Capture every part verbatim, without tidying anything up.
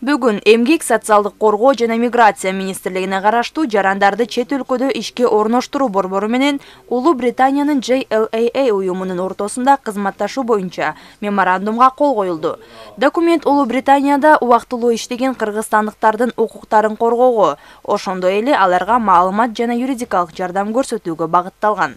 Бүгүн Эмгек социалдык коргоо жана миграция министрлигине караштуу жарандарды чет өлкөдө ишке орноштуруу борбору менен Улуу Британиянын J L A A уюмунун ортосунда кызматташуу боюнча меморандумга кол коюлду. Документ Улуу Британияда убактылуу иштеген кыргызстандыктардын укуктарын коргоого, ошондой эле аларга маалымат жана юридикалык жардам көрсөтүүгө багытталган.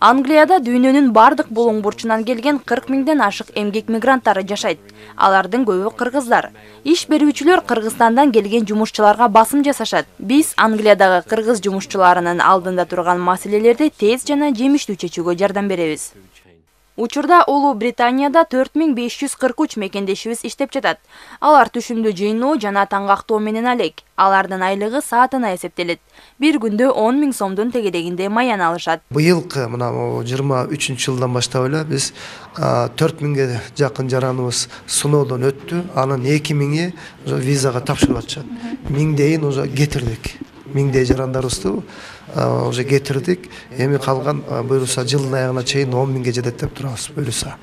Англияда дүйнөнүн бардык булуң бурчунан келген кырк миңден ашык эмгек мигранттары жашайт. Алардын көбү кыргыздар. Иш берүүчүлөр Кыргызстандан келген жумушчуларга басым жасашат. Биз Англиядагы кыргыз жумушчуларынын алдында турган маселелерди тез жана жемиштүү чечүүгө жардам беребиз. Учурда Улуу Британияда төрт миң беш жүз кырк үч мекендешибиз иштеп жатат. Алар түшүмдүү жыйноо жана таңгактоо менен алек. Алардын айлыгы саатына эсептелет. Бир күндө он миң сомдун тегерегинде маян алышат. Быйылкы мына жыйырма үчүнчү жылдан баштап эле биз төрт миңге жакын жараныбыз сыноодон өттү. Анын эки миңи визага тапшырып атышат. Миңдейин уже кетирдик. Миңдей жарандарыбызды уже кетирдик. Эми калган буюрса жылдын аягына чейин он миңге жетет деп турабыз буюрса.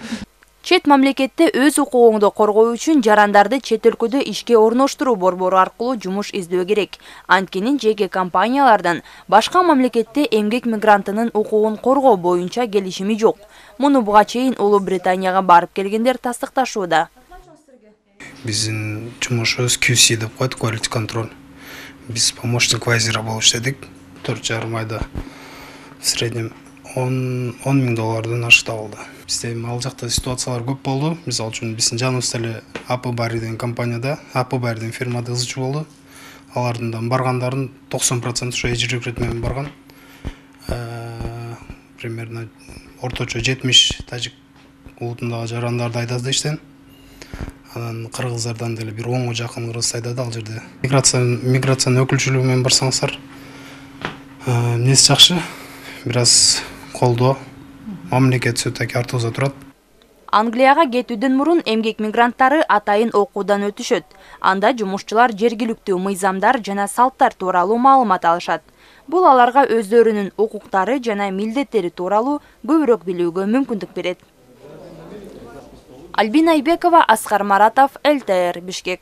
Чет мамлекетте өз укугуңду коргоо үчүн жарандарды чет өлкөдө ишке орноштуруу борбору аркылуу жумуш издөө керек. Анткени жеке компаниялардан башка мамлекетте эмгек мигрантынын укугун коргоо боюнча келишими жок. Муну буга чейин Улуу Британияга барып келгендер тастыкташууда. Биздин жумушубуз Q C деп коет, quality control. Биз помощник вайзера болуп иштедик. төрт жарым айда в среднем он миң доллардан ашык табылды. Бизде ал жакта ситуациялар көп болду. Мисалы үчүн биздин жаныбызда эле A P Barry деген компанияда, A P Barry деген фирмада ызычы болду. Алардын баргандардын токсон проценти ошо эжир рекрут менен барган. Примерно орточо жетимиш тажик улутундагы жарандарды айдады иштен. Анан кыргыздардан деле бир онго жакын кыргыз айдады ал жерде. Миграция миграциянын өкүлчүлүгү менен барсаңыздар, эмнеси жакшы, бир аз колдоо, мамлекет сөтөк артыбызда турат. Англияга кетүүдөн мурун эмгек мигранттары атайын окуудан өтүшөт. Анда жумушчулар жергиликтүү мыйзамдар жана салттар тууралуу маалымат алышат. Бул аларга өздөрүнүн укуктары жана милдеттери тууралуу көбүрөөк билүүгө мүмкүндүк берет. Альбина Айбекова, Аскар Маратов, Л Т Р, Бишкек.